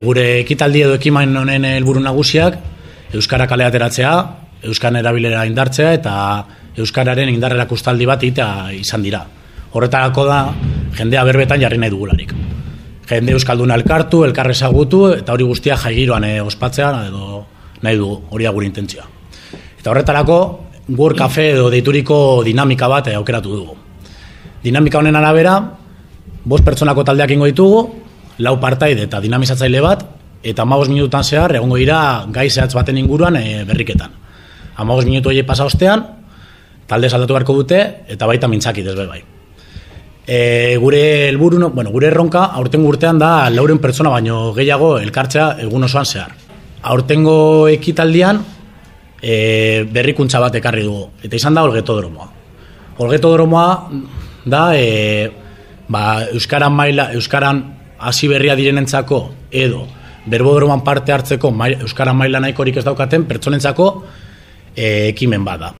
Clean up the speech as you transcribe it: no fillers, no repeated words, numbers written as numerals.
Gure ekitaldi edo ekimen honen helburu nagusiak euskara kale ateratzea, euskararen erabilera indartzea eta euskararen indar erakustaldi bat egitea izan dira. Horretarako da jendea berbetan jarri nahi dugularik. Jende euskalduna elkartu, elkar ezagutu eta hori guztia jaigiroan ospatzea edo nahi dugu, hori da gure intentzioa. Eta horretarako Word Cafe edo deituriko dinamika bat aukeratu dugu. Dinamika honen arabera, 5 pertsonako taldeak ingo ditugu, 4 partaide eta dinamizatzaile bat, eta 15 minutan zehar egongo dira gai zehatz baten inguruan berriketan. 15 minutu horiek pasa ostean, talde saldatu beharko dute, eta baita mintzakit ez bai. Gure helburu, gure erronka aurtengo urtean da 400 pertsona baino gehiago elkartzea egun osoan zehar. Aurtengo ekitaldian berrikuntza bat ekarri dugu, eta izan da olgetodromoa. Olgetodromoa da euskaran hasi berria direnentzako edo berbodroman parte hartzeko euskara maila nahikorik ez daukaten pertsonentzako ekimen bat da.